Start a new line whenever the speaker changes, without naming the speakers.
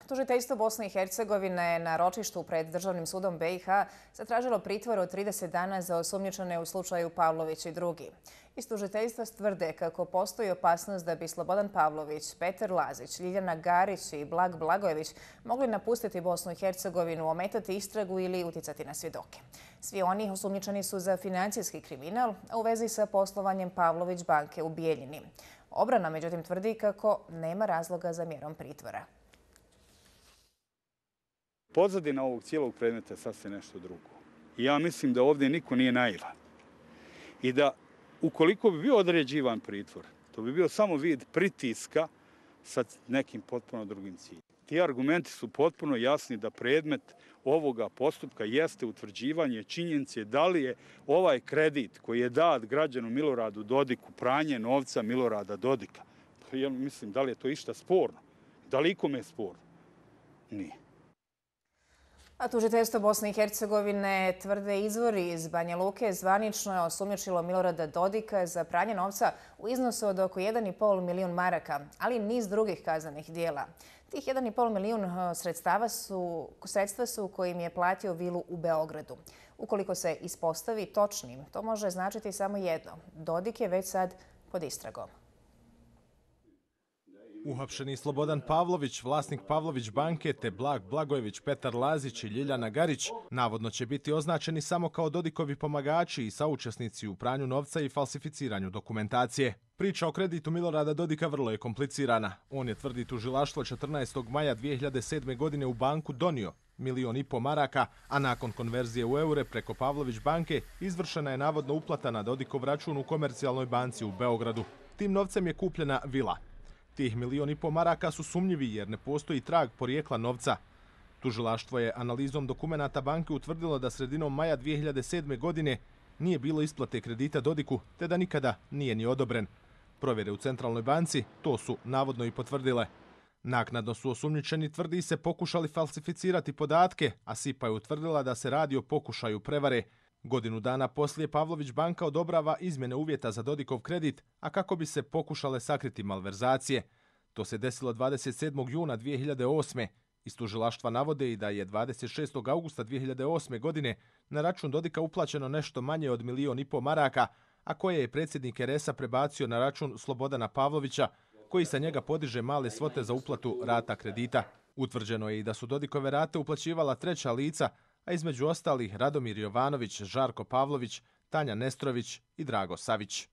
Tužiteljstvo Bosne i Hercegovine na ročištu pred Državnim sudom BiH zatražilo pritvor od 30 dana za osumnjičene u slučaju Pavlović i drugi. Iz tužiteljstva tvrde kako postoji opasnost da bi Slobodan Pavlović, Petar Lazić, Ljiljana Garić i Blag Blagojević mogli napustiti Bosnu i Hercegovinu, ometati istragu ili uticati na svjedoke. Svi oni osumnjičeni su za financijski kriminal, a u vezi sa poslovanjem Pavlović banke u Bijeljini. Obrana međutim tvrdi kako nema razloga za mjerom pritvora.
Pozadina ovog cijelog predmeta je sasvim nešto drugo. I ja mislim da ovdje niko nije naivan. I da ukoliko bi bio određivan pritvor, to bi bio samo vid pritiska sa nekim potpuno drugim ciljem. Ti argumenti su potpuno jasni da predmet ovoga postupka jeste utvrđivanje činjenice da li je ovaj kredit koji je dat građanu Miloradu Dodiku pranje novca Milorada Dodika. Ja mislim, da li je to išta sporno? Da li ikome je sporno? Nije.
A tužiteljstvo Bosne i Hercegovine, tvrde izvori iz Banja Luke, zvanično je osumnjičilo Milorada Dodika za pranje novca u iznosu od oko 1,5 milijun maraka, ali i niz drugih kaznenih dijela. Tih 1,5 milijun sredstva su kojim je platio vilu u Beogradu. Ukoliko se ispostavi točnim, to može značiti samo jedno. Dodik je već sad pod istragom.
Uhapšeni Slobodan Pavlović, vlasnik Pavlović banke, te Blag Blagojević, Petar Lazić i Ljiljana Garić navodno će biti označeni samo kao Dodikovi pomagači i saučesnici u pranju novca i falsificiranju dokumentacije. Priča o kreditu Milorada Dodika vrlo je komplicirana. On je, tvrdi tužilaštvo, 14. maja 2007. godine u banku donio 1,5 milijun maraka, a nakon konverzije u eure preko Pavlović banke izvršena je navodno uplata na Dodikov račun u Komercijalnoj banci u Beogradu. Tim novcem je kupljena vila. Tih 1,5 milijuna maraka su sumnjivi jer ne postoji trag porijekla novca. Tužilaštvo je analizom dokumenata banke utvrdilo da sredinom maja 2007. godine nije bilo isplate kredita Dodiku, te da nikada nije ni odobren. Provjere u Centralnoj banci to su navodno i potvrdile. Naknadno su osumnjičeni, tvrdi se, pokušali falsificirati podatke, a SIPA je utvrdila da se radi o pokušaju prevare. Godinu dana poslije Pavlović banka odobrava izmjene uvjeta za Dodikov kredit, a kako bi se pokušale sakriti malverzacije. To se desilo 27. juna 2008. Iz tužilaštva navode i da je 26. augusta 2008. godine na račun Dodika uplaćeno nešto manje od 1,5 milijuna maraka, a koje je predsjednik RS-a prebacio na račun Slobodana Pavlovića, koji sa njega podiže male svote za uplatu rata kredita. Utvrđeno je i da su Dodikove rate uplaćivala treća lica, a između ostalih Radomir Jovanović, Žarko Pavlović, Tanja Nestrović i Drago Savić.